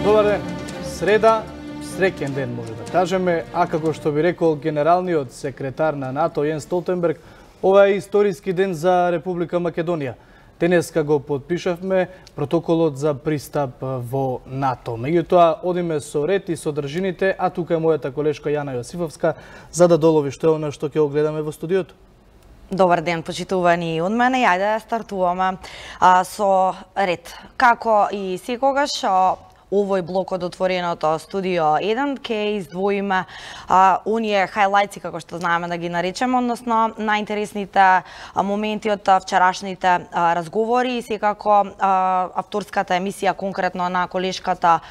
Добар ден. Среда, среќен ден може да кажеме, а како што би рекол генералниот секретар на НАТО Јенс Столтенберг, ова е историски ден за Република Македонија. Денеска го подпишавме протоколот за пристап во НАТО. Меѓутоа, одиме со ред и содржините, а тука е мојата колешка Јана Јосифовска, за да долови што е она што ќе огледаме во студиото. Добар ден, почитувани од мене. Ајде да стартуваме со ред. Како и секогаш, овој блок од отвореното студио 1 ќе издвоиме оние хайлајци, како што знаеме да ги наречеме, односно најинтересните моменти од вчерашните разговори и секако авторската емисија конкретно на колешката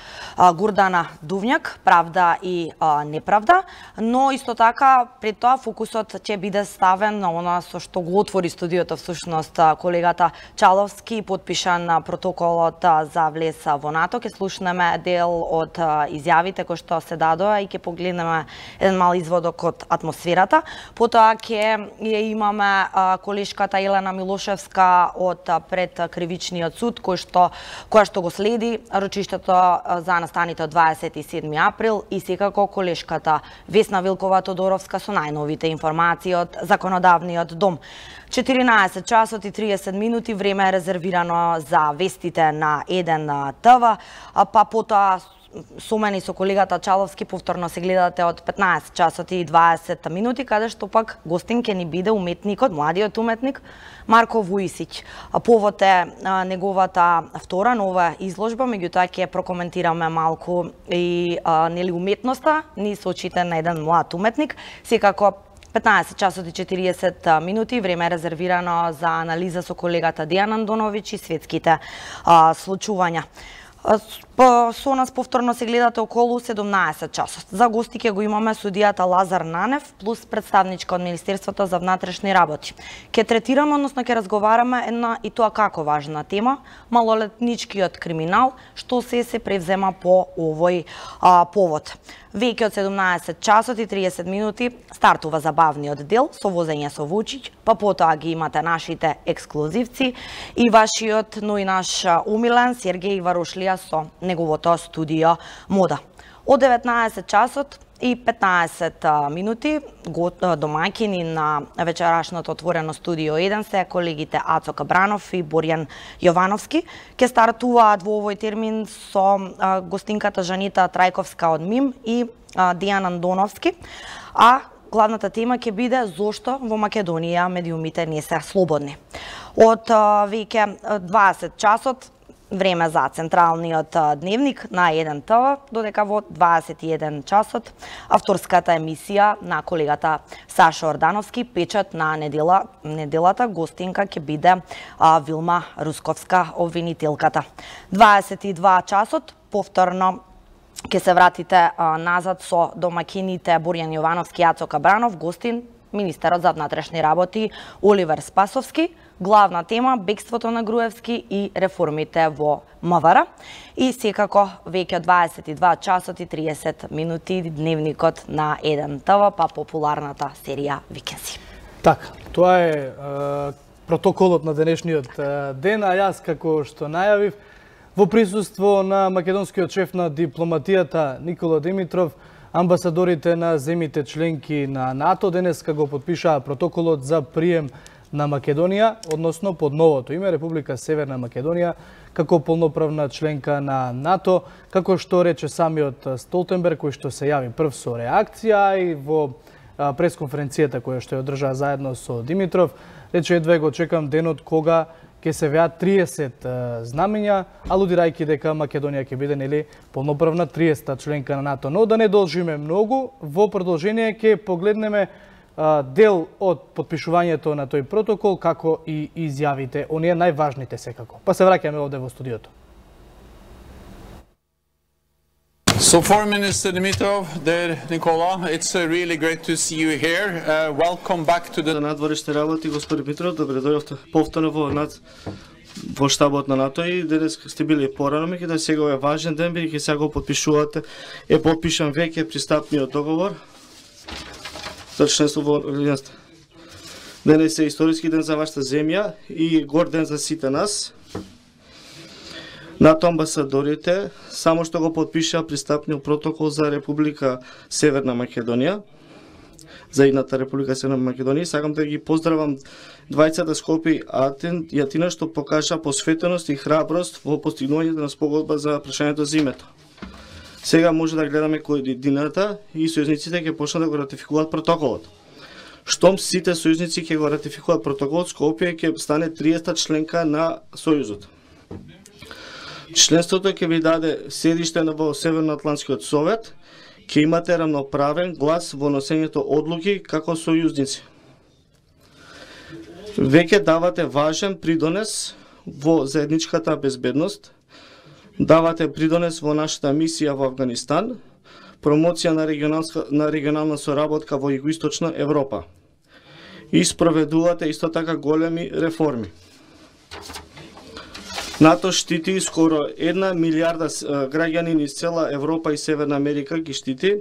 Гурдана Дувњак, Правда и неправда, но исто така пред тоа фокусот ќе биде ставен на она со што го отвори студиото всушност колегата Чаловски, подпишан протоколот за влез во НАТО. Ќе слушнеме дел од изјавите кои што се дадоа и ќе погледнеме еден мал изводок од атмосферата. Потоа ќе ја имаме колешката Елена Милошевска од пред кривичниот суд која што го следи рочиштето за настаните од 27 април и секако колешката Весна Вилкова Тодоровска со најновите информации од законодавниот дом. 14 часот и 30 минути време е резервирано за вестите на 1 ТВ, па потоа со мене и со колегата Чаловски повторно се гледате од 15 часот и 20 минути, каде што пак гостин ќе ни биде уметникот, младиот уметник Марко Вујсич. Повод е неговата втора нова изложба, меѓутоа ќе прокоментираме малку и нели уметноста ни со очите на еден млад уметник. Секако 15 часот и 40 минути време е резервирано за анализа со колегата Дејан Андоновиќ и светските случувања. Со нас повторно се гледате околу 17 часот. За гости ќе го имаме судијата Лазар Нанев плюс представничка од Министерството за внатрешни работи. Ќе третираме, односно ќе разговараме една и тоа како важна тема, малолетничкиот криминал, што се превзема по овој повод. Веќе од 17 часот и 30 минути стартува забавниот дел со возење со Вучиќ, па потоа ги имате нашите ексклузивци и вашиот, но и наш умилен Сергеј Варушлија со неговото студио Мода. Од 19 часот и 15 минути домаќини на вечерашното отворено студио 1 се колегите Ацо Кабранов и Борјан Јовановски. Ке стартуваат во овој термин со гостинката Жанита Трајковска од МИМ и Дејан Андоновски, а главната тема ќе биде зошто во Македонија медиумите не се слободни. Од веќе 20 часот време за централниот дневник на 1 ТВ, додека во 21 часот авторската емисија на колегата Саша Ордановски, печат на неделата гостинка ќе биде Вилма Русковска, обвинителката. 22 часот повторно ќе се вратите назад со домакините Борјан Јовановски и Ацо Кабранов, гостин министерот за внатрешни работи Оливер Спасовски. Главна тема бегството на Груевски и реформите во МВР. И секако веќе 22 часот и 30 минути дневникот на 1 ТВ, па популарната серија Викенси. Така, тоа е протоколот на денешниот ден, а јас како што најавив во присуство на македонскиот шеф на дипломатијата Никола Димитров, амбасадорите на земите членки на НАТО денеска го подпишаа протоколот за прием на Македонија, односно под новото име Република Северна Македонија, како полноправна членка на НАТО, како што рече самиот Столтенберг, кој што се јави прв со реакција и во пресконференцијата која што ја одржа заедно со Димитров, рече едва го чекам денот кога ќе се веат 30 знамења, алудирајќи дека Македонија ќе биде нели полноправна 30-та членка на НАТО. Но да не должиме многу, во продолжение ќе погледнеме дел од подпишувањето на тој протокол, како и изјавите, оние најважните секако. Па се враќаме овде во студиото. So Foreign Minister Dimitrov, there Nicola, it's really great to see you here. Welcome back to the надворешни работи, господин Димитров, добре дојдовте повторно во штабот на НАТО и денес сте били порано, меѓутоа сега е важен ден, бидејќи сега го подпишувате, е подпишан веќе пристапниот договор за членство во Алијансата. Денес е историски ден за вашата земја и горд ден за сите нас. НАТО амбасадорите само што го потпишаа пристапниот протокол за Република Северна Македонија, за едната Република Северна Македонија. Сакам да ги поздравам двајцата Скопје и Атина што покажа посветеност и храброст во постигнувањето на спогодба за прашањето за името. Сега може да гледаме кој годината и сојузниците ќе почнат да го ратификуваат протоколот. Штом сите сојузници ќе го ратификуваат протоколот, Скопје ќе стане 30-та членка на Сојузот. Членството ќе ви даде седиште во Северноатлантскиот совет, ќе имате рамноправен глас во носењето одлуки како сојузници. Веќе давате важен придонес во заедничката безбедност, давате придонес во нашата мисија во Афганистан, промоција на регионална соработка во Југоисточна Европа. И спроведувате исто така големи реформи. НАТО штити скоро 1 милиарда граѓани из цела Европа и Северна Америка ги штити.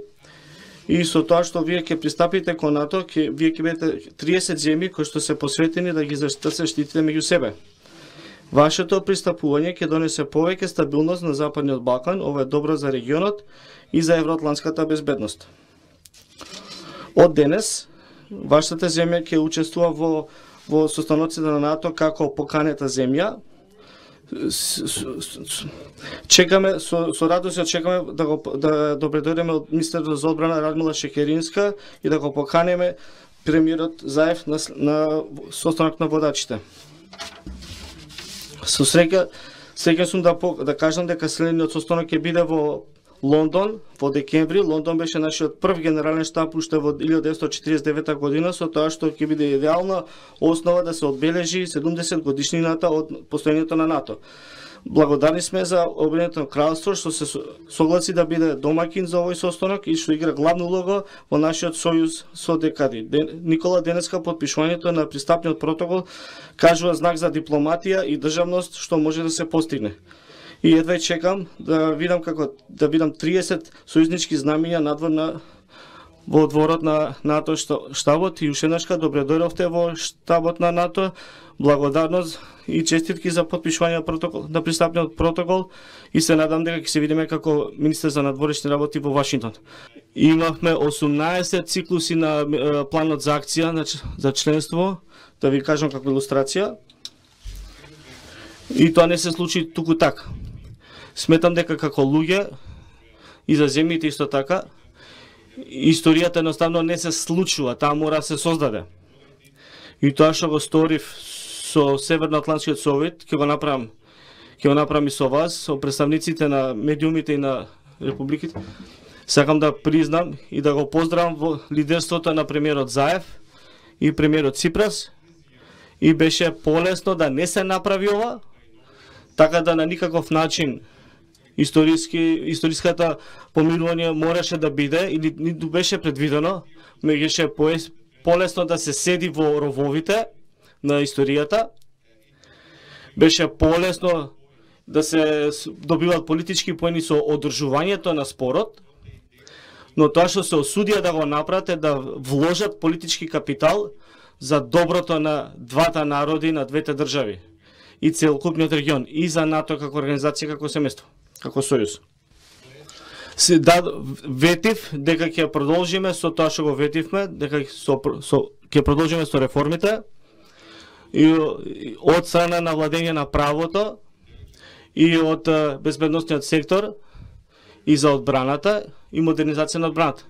И со тоа што вие ќе пристапите кон НАТО, вие ќе бидете 30 земји кои што се посветени да се штитите меѓу себе. Вашето пристапување ќе донесе повеќе стабилност на Западниот Балкан, ова е добро за регионот и за евроатлантската безбедност. Од денес, вашата земја ќе учествува во состаноците на НАТО како поканета земја. Чекаме со радост очекуваме да добредојдеме од министерот за одбрана Радмила Шекеринска и да го поканеме премиерот Заев на состанок на водачите. Со среќа сум да кажам дека следниот состанок ќе биде во Лондон во декември. Лондон беше нашиот прв генерален штаб уште во 1949 година, со тоа што ќе биде идеална основа да се одбележи 70 годишнината од постоењето на НАТО. Благодарни сме за Обединетото кралство што се согласи да биде домакин за овој состанок и што игра главна улога во нашиот сојуз со декади. Никола, денеска подпишувањето на пристапниот протокол кажува знак за дипломатија и државност што може да се постигне. И едва чекам да видам 30 сојузнички знамиња надвор во дворот на НАТО штабот. И уште еднашка добре дојдовте во штабот на НАТО. Благодарност и честитки за подпишување на пристапниот протокол и се надам дека ќе се видиме како министер за надворешни работи во Вашингтон. Имавме 18 циклуси на планот за акција за членство, да ви кажам како илустрација. И тоа не се случи туку така. Сметам дека како луѓе и за земјите исто така, историјата едноставно не се случува, таа мора да се создаде. И тоа што го сторив со Северноатлантскиот совет, ќе го направам и со вас, со представниците на медиумите и на републиките. Сакам да признам и да го поздравам во лидерството на премиерот Заев и премиерот Ципрас. И беше полесно да не се направи ова, така да на никаков начин историската помирување мораше да биде или ниту беше предвидено, беше полесно да се седи во рововите на историјата, беше полесно да се добиваат политички поени со одржувањето на спорот, но тоа што се осудија да го направат е да вложат политички капитал за доброто на двата народи, на двете држави и целокупниот регион, и за НАТО како организација, како семејство, како сојуз. Ветив дека ќе продолжиме со тоа што го ветивме, дека ќе продолжиме со реформите и од страна на владење на правото и од безбедносниот сектор и за одбраната и модернизација на одбраната.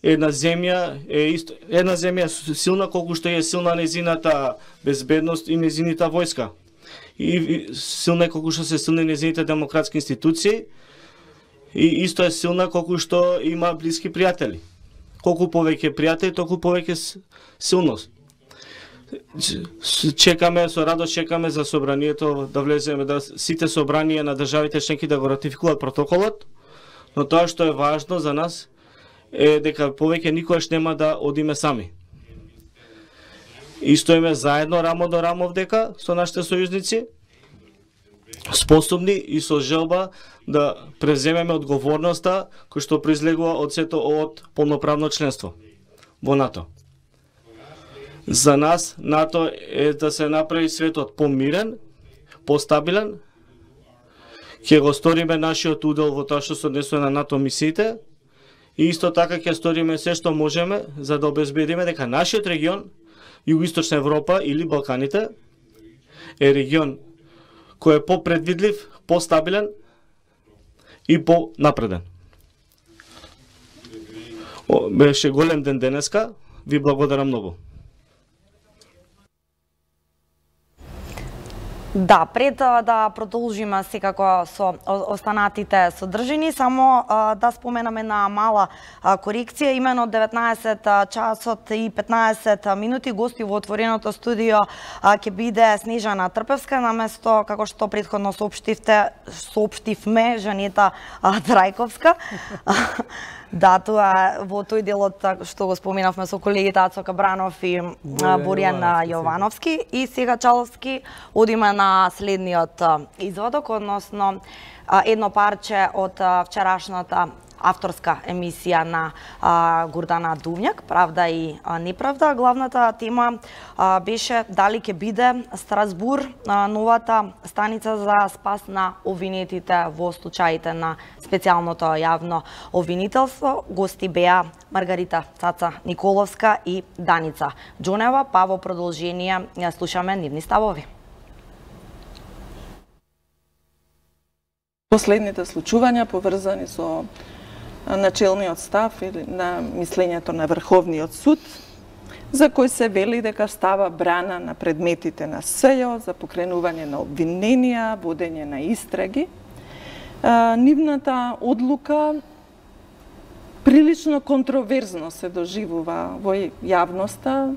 Една земја е силна колку што е силна незината безбедност и незината војска. И силна колку што се силни незините демократски институции, и исто е силна колку што има блиски пријатели. Колку повеќе пријатели, толку повеќе силност. Чекаме, со радост чекаме за собранието да влеземе, да сите собранија на државите членки да го ратификуваат протоколот, но тоа што е важно за нас е дека повеќе никогаш нема да одиме сами. И стоиме заедно рамо до рамо вдека со нашите сојузници, способни и со желба да преземеме одговорноста која што произлегува од сето од полноправно членство во НАТО. За нас НАТО е да се направи светот помирен, постабилен ќе го сториме нашиот удел во тоа што се однесува на НАТО мисиите и исто така ќе сториме се што можеме за да обезбедиме дека нашиот регион, Југоисточна Европа или Балканите, е регион кој е попредвидлив, постабилен и понапреден. Беше голем ден денеска, ви благодарам многу. Да, пред да продолжиме секако со останатите содржини, само да споменаме на мала корекција, имено 19 часот и 15 минути гости во отвореното студио ќе биде Снежана Трпевска, наместо, како што претходно соопштивме, Жанета Трајковска. Да, тоа во тој делот што го споменавме со колегите Ацо Кабранов и Боријан Јовановски, и сега Чаловски одиме на следниот изводок, односно едно парче од вчерашната авторска емисија на Гордана Дувњак, Правда и неправда. Главната тема беше дали ќе биде Страсбур новата станица за спас на обвинетите во случаите на специјалното јавно обвинителство. Гости беа Маргарита Цаца Николовска и Даница Џонева, па во продолжение слушаме нивни ставови. Последните случувања поврзани со начелниот став или на мислењето на Врховниот суд, за кој се вели дека става брана на предметите на СЈО за покренување на обвиненија, водење на истраги. Нивната одлука прилично контроверзно се доживува во јавноста,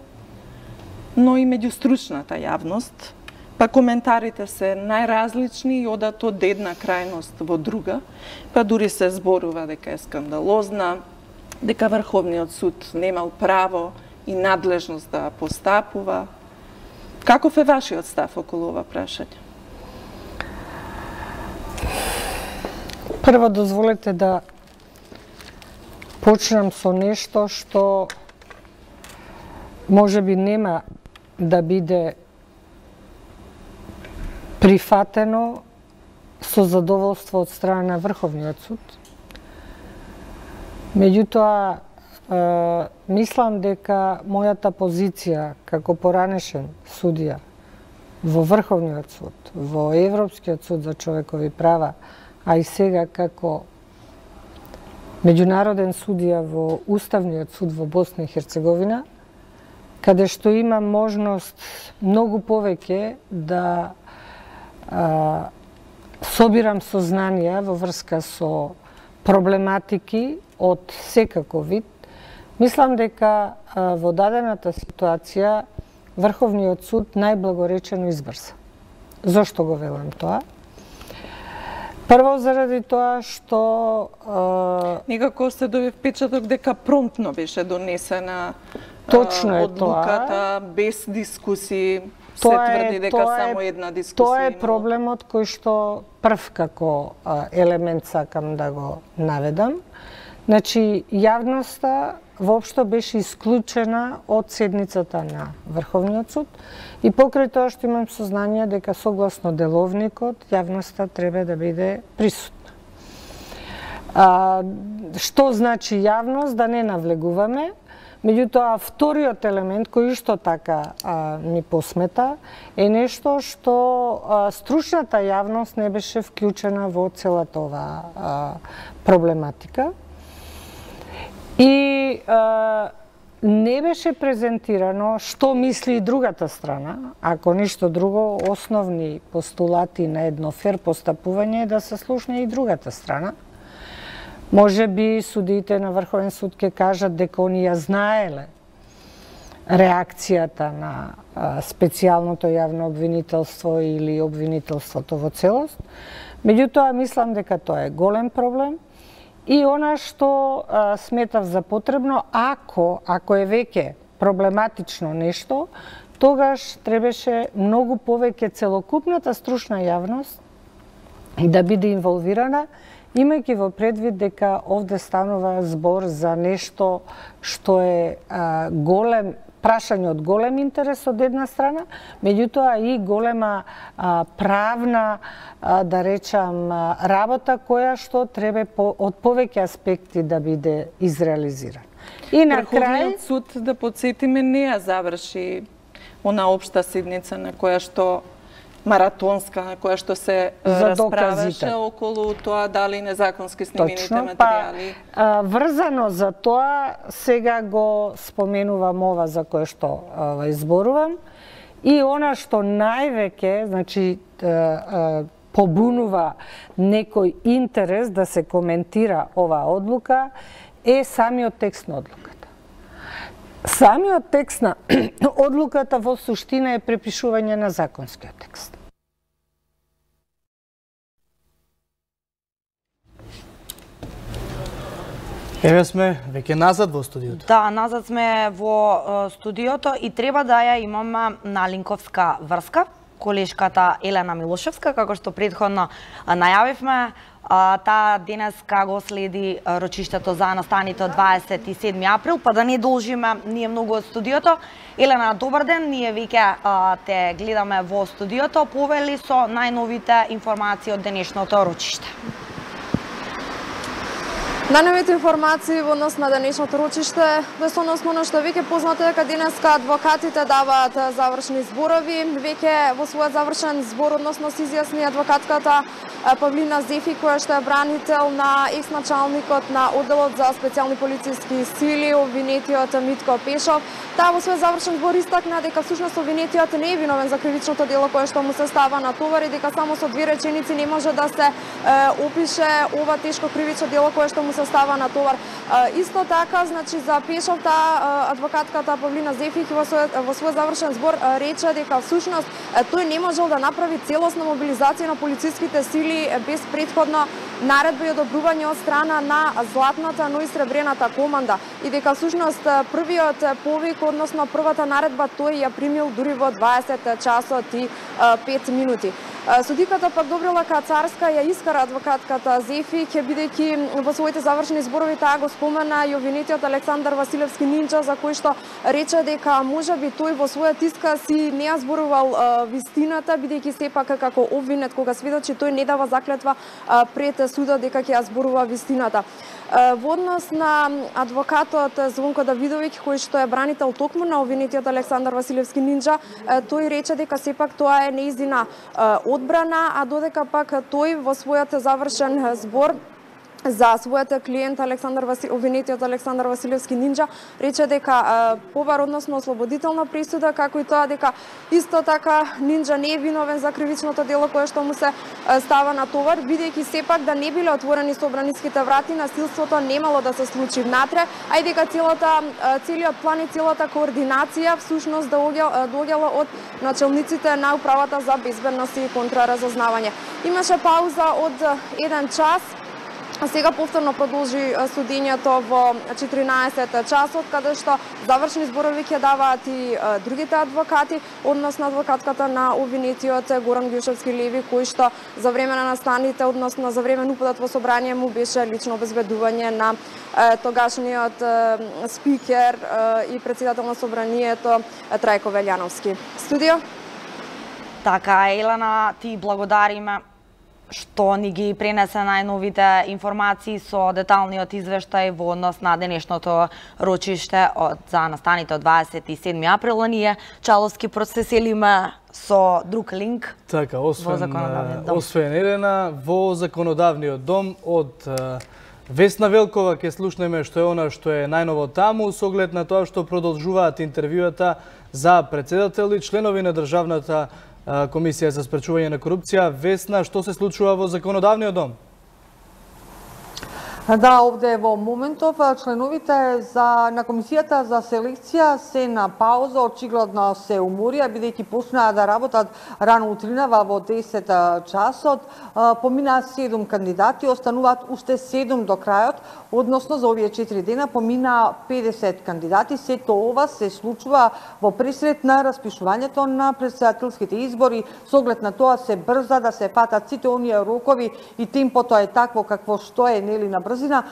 но и меѓу стручната јавност. Па коментарите се најразлични и одат од една крајност во друга, па дури се зборува дека е скандалозна, дека Врховниот суд немал право и надлежност да постапува. Каков е вашиот став околу ова прашање? Прво дозволете да почнам со нешто што можеби нема да биде прифатено со задоволство од страна на Врховниот суд. Меѓутоа, мислам дека мојата позиција како поранешен судија во Врховниот суд, во Европскиот суд за човекови права, а и сега како меѓународен судија во Уставниот суд во Босна и Херцеговина, каде што има можност многу повеќе да собирам сознанија во врска со проблематики од секаков вид, мислам дека во дадената ситуација Врховниот суд најблагоречено избрса. Зошто го велам тоа? Прво заради тоа што некако се доби впечаток дека промптно беше донесена точно одлуката, без дискусии. Се тврди дека само една дискусија. Тоа е проблемот кој што прв како елемент сакам да го наведам. Значи, јавноста воопшто беше исклучена од седницата на Врховниот суд и покрај тоа што имам сознание дека согласно деловникот јавноста треба да биде присутна. Што значи јавност, да не навлегуваме. Меѓутоа, вториот елемент кој исто така ми посмета е нешто што стручната јавност не беше вклучена во целата оваа проблематика и не беше презентирано што мисли и другата страна, ако ништо друго, основни постулати на едно фер постапување е да се слушне и другата страна. Може би судиите на Врховен суд ќе кажат дека они ја знаеле реакцијата на специјалното јавно обвинителство или обвинителството во целост. Меѓутоа, мислам дека тоа е голем проблем и она што сметав за потребно, ако е веќе проблематично нешто, тогаш требаше многу повеќе целокупната стручна јавност да биде инволвирана, имајќи во предвид дека овде станува збор за нешто што е голем прашање од голем интерес од една страна, меѓутоа и голема правна, да речам, работа која што треба од повеќе аспекти да биде изреализирана. И на крај суд, да подсетиме, не ја заврши она општа седница на која што маратонска, на која што се расправаше околу тоа дали незаконски снимените материјали. Врзано за тоа, сега го споменувам ова за кое што изборувам, и она што највеќе, значи, побунува некој интерес да се коментира оваа одлука, е самиот текст на одлуката. Самиот текст на одлуката во суштина е препишување на законскиот текст. Еве сме веќе назад во студиото. Да, назад сме во студиото и треба да ја имаме на линковска врска колешката Елена Милошевска, како што претходно најавивме. Таа денеска го следи рочиштето за настаните од 27 април, па да не должиме ние многу од студиото. Елена, добар ден, ние веќе те гледаме во студиото. Повели со најновите информации од денешното рочиште. Најновите информации во однос на денешното рочиште, без односно на што веќе познато дека денеска адвокатите даваат завршни зборови. Веќе во својот завршен збор односно се изјасни адвокатката Павлина Зефи, која што е бранител на екс-началникот на одделот за специјални полициски сили, обвинетиот Митко Пешов. Таа во својот завршен збор истакна дека всушност обвинетиот не е виновен за кривичното дело кое што му се става на товар и дека само со две реченици не може да се опише ова тешко кривично дело кое што му се става на товар. Исто така, значи за Пешов, таа адвокатката Павлина Зефих во својот завршен збор рече дека всушност тој не можел да направи целосна мобилизација на полициските сили без претходно наредба и одобрување од страна на златната, но и сребрената команда и дека всушност првиот повик, односно првата наредба, тој ја примил дури во 20 часот и 5 минути. Судиката пак Добрила Кацарска ја искара адвокатката Зефи, бидејќи во своите завршени зборови таа го спомена и обвинетиот Александар Василевски Нинџа, за кој што рече дека можеби тој во својот исказ си не ја зборувал вистината, бидејќи сепак како обвинет кога сведочи тој не дава заклетва пред судот дека ќе ја зборува вистината. Во однос на адвокатот Звонко Давидовиќ, кој што е бранител токму на обвинетиот Александар Василевски Нинџа, тој рече дека сепак тоа е неизина одбрана, а додека пак тој во својот завршен збор за својот клиент обвинетиот Александар Василевски Нинџа рече дека побар односно ослободителна присуда, како и тоа дека исто така Нинџа не е виновен за кривичното дело кое што му се става на товар, бидејќи сепак да не биле отворени собраниските врати, насилството немало да се случи внатре, а и дека целиот план и целата координација всушност доаѓала од начелниците на управата за безбедност и контраразузнавање. Имаше пауза од 1 час. Сега повторно продолжи судењето во 14 часот, каде што завршни зборови ќе даваат и другите адвокати, односно адвокатката на обвинетиот Горан Гјушевски Леви, кој што за време на настаните, односно за време на упадот во собрание му беше лично обезбедување на тогашниот спикер и председател на собранието Трајко Велјановски. Студио? Така, Елена, ти благодариме што ни ги пренесе најновите информации со деталниот извештај во однос на денешното рочиште за настаните од 27 април. Ние чаловски процеселиме со друг линк. Така, освен Елена, во законодавниот дом од Весна Велкова ќе слушнеме што е она што е најново таму, со оглед на тоа што продолжуваат интервјуата за председател и членови на Државната Комисија за спречување на корупција. Весна, што се случува во законодавниот дом? Да, овде во моментов членовите на комисијата за селекција се на пауза, очигледно се уморија, бидејќи почнаа да работат рано утринава во 10 часот. Поминаа 7 кандидати, остануваат уште 7 до крајот, односно за овие 4 дена поминаа 50 кандидати. Сето ова се случува во пресред на распишувањето на претседателските избори. Со оглед на тоа се брза да се фатат сите оние рокови и темпото е такво какво што е, нели, на брзина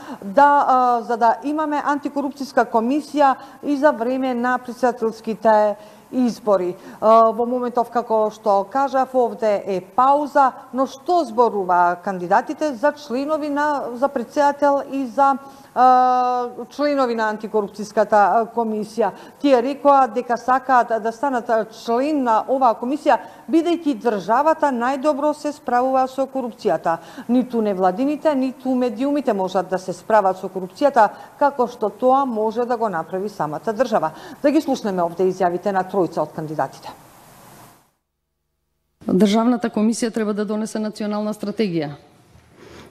за да имаме антикорупцијска комисија и за време на претседателските избори. Во моментов, како што кажав, овде е пауза, но што зборува кандидатите за членови за претседател и за членови на антикорупцијската комисија. Тие рекоа дека сакаат да станат член на оваа комисија, бидејќи државата најдобро се справува со корупцијата. Ниту невладините, ниту медиумите можат да се справат со корупцијата, како што тоа може да го направи самата држава. Да ги слушнеме овде изјавите на тројца од кандидатите. Државната комисија треба да донесе национална стратегија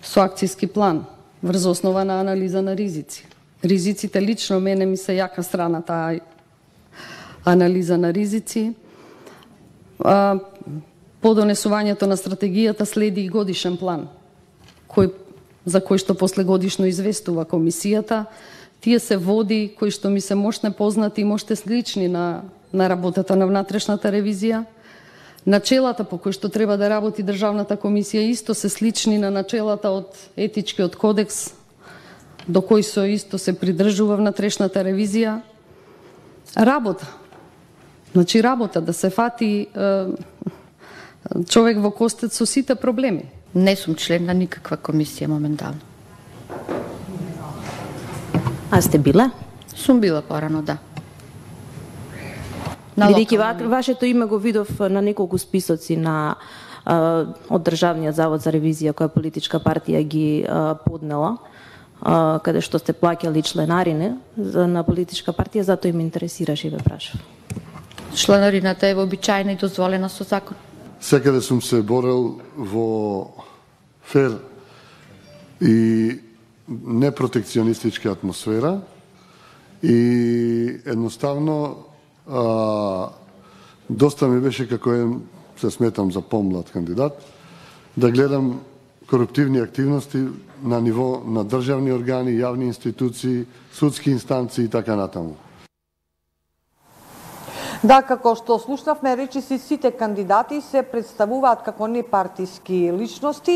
со акцијски план врз основа на анализа на ризици. Ризиците лично мене ми се јака страна таа анализа на ризици. По донесувањето на стратегијата следи и годишен план, за кој што последгодишно известува комисијата. Тие се води кои што ми се мошне познати и моште слични на работата на внатрешната ревизија. Начелата по кои што треба да работи Државната комисија исто се слични на начелата од етичкиот кодекс, до кој со исто се придржува внатрешната ревизија. Работа. Значи работа, да се фати човек во костец со сите проблеми. Не сум член на никаква комисија моментално. А сте била? Сум била порано, да. Бидејќи вашето име го видов на неколку списоци од Државниот завод за ревизија која политичка партија ги поднела, каде што сте плаќали членарине на политичка партија, затоа и ме интересираше и ве прашав. Членарината е вообичаена и дозволена со закон. Секаде сум се борел во фер и непротекционистичка атмосфера и едноставно доста ми беше, како се сметам за помлад кандидат, да гледам коруптивни активности на ниво на државни органи, јавни институции, судски инстанции и така натаму. Да, како што слушнавме, речиси сите кандидати се представуваат како непартиски личности,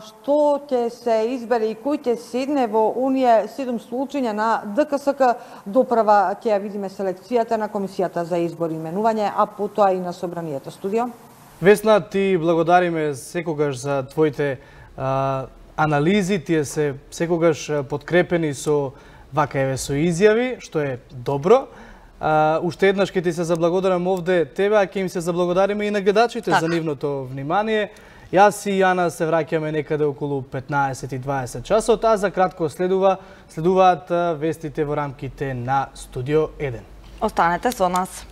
што ќе се избере и кој ќе седне во оние 7 случања на ДКСК, доправа ќе ја видиме селекцијата на Комисијата за избор и именување, а потоа и на Собранието. Студио. Весна, ти благодариме секогаш за твоите анализи, тие се секогаш подкрепени со со изјави, што е добро. Уште еднаш ќе ти се заблагодарам овде тебе, а ќе им се заблагодариме и на гледачите за нивното внимание. Јас и Јана се враќаме некаде околу 15:20 часот, а за кратко следуваат вестите во рамките на Студио 1. Останете со нас.